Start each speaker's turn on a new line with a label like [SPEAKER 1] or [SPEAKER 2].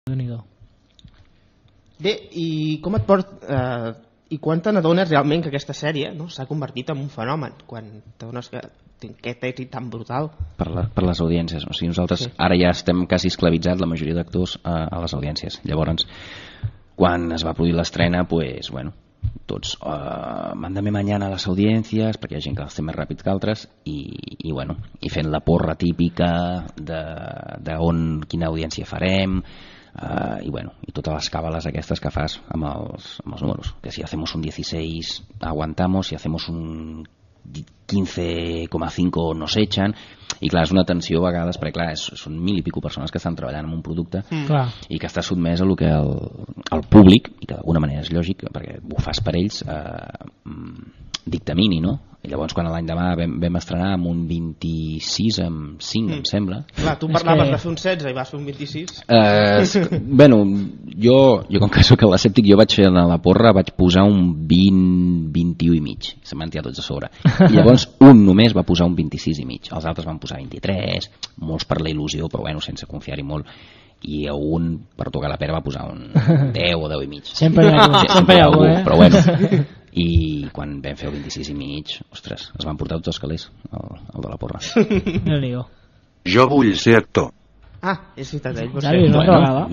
[SPEAKER 1] Déu-n'hi-do.
[SPEAKER 2] Bé, i com et i quan te n'adones realment que aquesta sèrie s'ha convertit en un fenomen, quan t'adones que té aquest èxit tan brutal?
[SPEAKER 3] Per les audiències, o sigui, nosaltres ara ja estem quasi esclavitzats, la majoria d'actors, a les audiències. Llavors, quan es va produir l'estrena, pues, bueno, tots mándame mañana a les audiències, perquè hi ha gent que els té més ràpid que altres, i bueno, i fent la porra típica de quina audiència farem, i bueno, i totes les càbales aquestes que fas amb els números, que si hacemos un 16 aguantamos, si hacemos un 15,5 nos echan, i clar, és una tensió a vegades, perquè clar, són 1.000 i pico persones que estan treballant en un producte i que està sotmès a lo que el públic, i que d'alguna manera és lògic perquè ho fas per ells, dictamini, no? I llavors quan l'any demà vam estrenar amb un 26,5 em sembla.
[SPEAKER 2] Clar, tu parlaves de fer un 16 i vas fer un 26.
[SPEAKER 3] Bueno, jo com que soc l'escèptic, jo vaig fer a la porra, vaig posar un 21 i mig, se m'han tirat tots a sobre, i llavors un només va posar un 26 i mig, els altres van posar 23, molts per la il·lusió, però bueno, sense confiar-hi molt, i un per tocar la pera va posar un 10 o 10 i mig.
[SPEAKER 1] Sempre hi ha algú,
[SPEAKER 3] però bueno. I quan vam fer el 26 i mig, ostres, es van portar tots els calés, el de la porra.
[SPEAKER 1] Déu-n'hi-do.
[SPEAKER 4] Jo vull ser actor.
[SPEAKER 2] Ah, és veritat, ell.
[SPEAKER 1] Ja, una vegada.